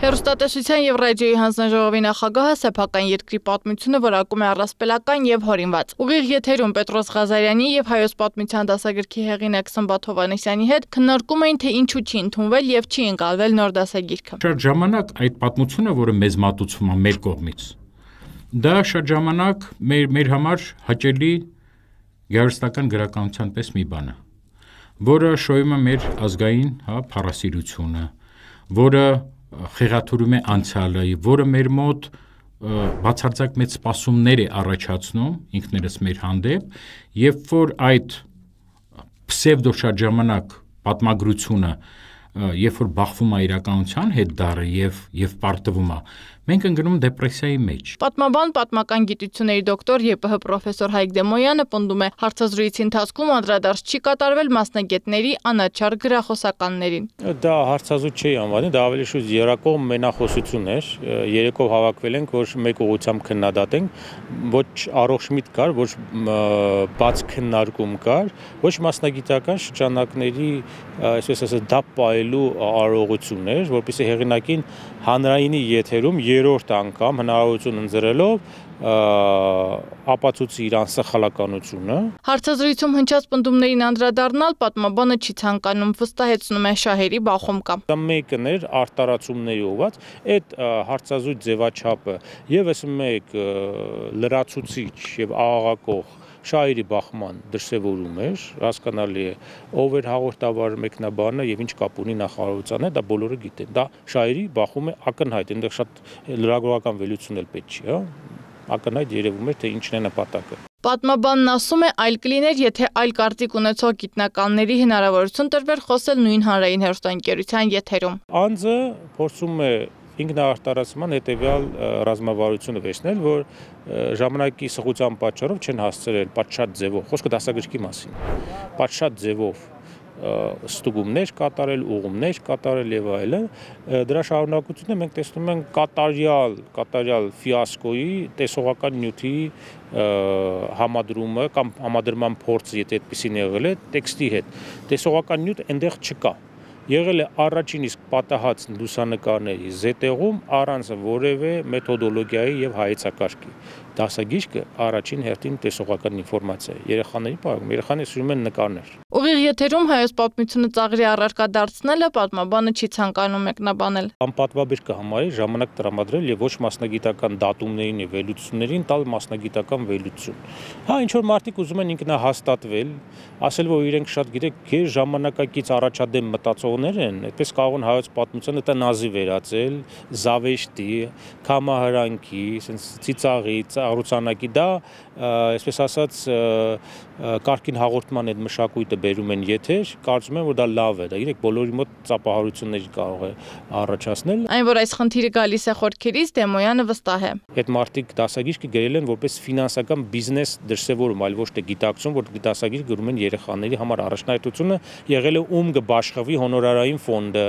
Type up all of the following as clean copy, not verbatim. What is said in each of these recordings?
Հեռուստատեսության և ռադիոյի հանձնաժողովի նախագահը սեփական երկրի պատմությունը որակում է առասպելական և հորինված։ Ուղիղ եթերում Պետրոս Ղազարյանի և Հայոց պատմության դասագրքի հեղինակ Սմբատ Հովհաննիսյանի հետ քննարկում էին, թե ինչու չի ընդունվել և չի ընկալվել նոր դասագիրքը։ Շատ ժամանակ այդ պատմությունը, որը մեզ մատուցվում է մեր կողմից, դա շատ ժամանակ մեր համար հաճելի գեղարվեստական գրականության պես մի բան է, որը շոյում է մեր ազգային փառասիրությունը, որը խեղաթյուրում է անցյալը, որը մեր մոտ բացարձակ մեծ սպասումներ է առաջացնում ինքներս մեր հանդեպ, երբ որ այդ պսևդո շատ ժամանակ պատմագրությունը, երբ որ բախվում է իրականության հետ դառը եւ պարտվում է, մենք ընկնում դեպրեսիայի մեջ։ Պատմաբան, պատմական գիտությունների դոկտոր ԵՊՀ պրոֆեսոր Հայկ Դեմոյանը պնդում է, հարցազրույցի ընթացքում անդրադարձ չի կատարվել մասնագետների անաչառ գրախոսականներին։ Դա հարցազրույց չի անվանի, դա ավելի շուտ երակողմ մենախոսություն էր, երեկով հավաքվել ենք, որ մեկ ուղղությամբ քննադատենք, ոչ առողջ միտք կար, ոչ բաց քննարկում կար, ոչ մասնագիտական շրջանակների, այսպես ասած, դապ պահելու արարողություն էր, որպեսզի հեղինակին հանրայինի եթերում երրորդ անգամ հնարավորություն ընձեռելով ապացուցի իր անսխալականությունը։ Հարցազրույցում հնչած պնդումներին անդրադառնալ պատմաբանը չի ցանկանում, վստահեցնում է շահերի բախում կա։ Դա մեկն էր արտարացումների ուղղված, այդ հարցազրույց ձևաչափը եւս մեկ լրացուցիչ եւ աղաղակող շահերի բախման դրսևորում էր, հասկանալի է, ով էր հաղորդավար մեկնաբանը եւ ինչ կապ ունի նախարարության հետ, դա բոլորը գիտեն։ Դա շահերի բախում է ակնհայտ, այնտեղ շատ լրագրողական վելություն էլ պետք չի, հա։ Ակնհայտ երևում էր, թե ինչն է նպատակը։ Պատմաբանն ասում է, այլ կլիներ, եթե այլ կարծիք ունեցող գիտնականների հնարավորություն տրվեր խոսել նույն հանրային հեռուստաընկերության եթերում։ Անձը փորձում է ինքնաարտարացման հետևյալ ռազմավարությունը վերցնել, որ ժամանակի սղության պատճառով չեն հասցրել պատշաճ ձևով, խոսքը դասագրքի մասին, պատշաճ ձևով ստուգումներ կատարել, ուղումներ կատարել եւ այլն, դրա շարունակությունը մենք տեսնում ենք կատարյալ ֆիասկոյի տեսողական նյութի համադրումը կամ համադրման փորձը, եթե այդպեսին եղել է, տեքստի հետ, տեսողական նյութ այնտեղ չկա։ Եղել է առաջին իսկ պատահած լուսանկարների զետեղում առանց որևէ մեթոդոլոգիայի եւ հայեցակարգի։ Դասագիրքը առաջին հերթին տեսողական ինֆորմացիա է։ Երեխաների պարագում, երեխաները սիրում են նկարներ։ Ուղիղ եթերում Հայոց պատմությունը ծաղրի առարկա դարձնելը պատմաբանը չի ցանկանում մեկնաբանել։ Անպատվաբեր կհամարի ժամանակ տրամադրել եւ ոչ մասնագիտական դատումներին եւ վերլուծություններին տալ մասնագիտական վերլուծություն։ Հա, ինչ որ մարդիկ ուզում են ինքնահաստատվել, ասել որ իրենք շատ գիտեք, գեր ժամանակակից առաջադեմ մտածողներ են, այդպես կարող են հայոց պատմությունը տնազի վերածել, զավեշտի, քամահրանքի, ասենց ծիծաղի, ծառուցանակի, դա, այսպես ասած, կարգին հաղորդման այդ մշակույթը բերում են եթեր, կարծում եմ, որ դա լավ է, դա իրեք բոլորի մոտ ծափահարություններ կարող է առաջացնել։ Այն, որ այս խնդիրը գալիս է խորքերից, Դեմոյանը վստահ է։ Այդ մարդիկ դասագիրքը գրել են որպես ֆինանսական բիզնես դրսևորում, այլ ոչ թե գիտակցում, որ դասագիր գրում են երեխաների համար առաջնահերթությունը եղել է ում կբաշխվի հոնորարային ֆոնդը,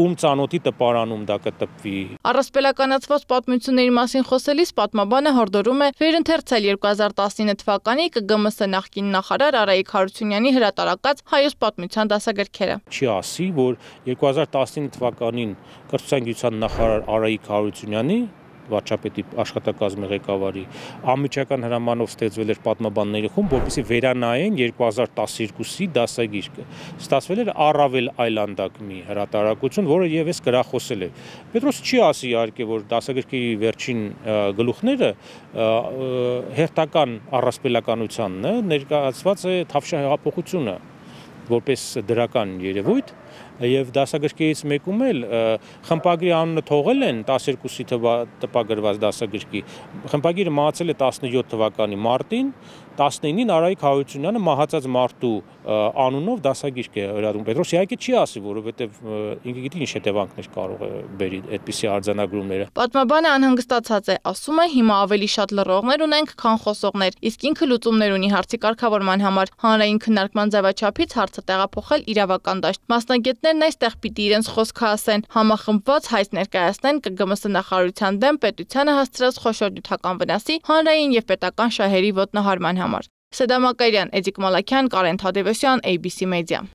ում ծանոթի տպարանում դա կտպվի։ Առասպելականացված պատմությունների մասին խոսելիս պատմաբանը հորդորում է վերընթերցել 2019 թվականի ԿԳՄՍ նախկին նախարար Արայիկ Հարությունյանի հրատարակած Հայոց պատմության դասագրքերը։ Չի ասի, որ 2019 թվականին կրթության գիտության նախարար Արայիկ Հարությունյանի վարչապետի աշխատակազմի ղեկավարի անմիջական հրամանով ստեղծվել էր պատմաբանների խումբ, որպեսզի վերանայեն 2012-ի դասագիրքը։ Ստացվել էր առավել այլանդակ մի հրատարակություն, որը եւս գրախոսել է։ Պետրոս չի ասի իհարկե, որ դասագրքի վերջին գլուխները հերթական առասպելականությանն է, ներկայացված է Թավշյա հեղափոխությունը որպես դրական երևույթ եւ դասագրքերից մեկում էլ խմբագրի անունը թողել են 12-ի տպագրված դասագրքի, խմբագիրը մահացել է 17 թվականի մարտին, 19-ին Արայիկ Հարությունյանը մահացած մարդու անունով դասագիրք է հրատարակում։ Պետրոս իհարկե չի ասի, որովհետեւ ինքը գիտի ինչ հետևանքներ կարող է բերի այդպիսի արձանագրումները։ Պատմաբանը անհանգստացած է, ասում է հիմա ավելի շատ լռողներ ունենք, քան խոսողներ, իսկ ինքը լուծումներ ունի հարցի կարգավորման համար, հանրային քննարկման ձևաչափից հարցը տեղափոխել իրավական դաշտ։ Մասնագետներն այստեղ պիտի իրենց խոսքը ասեն, համախմբված հայց ներկայացնեն ԿԳՄՍ նախարարության դեմ պետությանը հասցրած խոշոր նյութական վնասի, հանրային եւ պետական շահերի ոտնահարման համար։ Սեդա Մակարյան, Էդիկ Մալաքյան, Կարեն Թադևոսյան, ABC Media։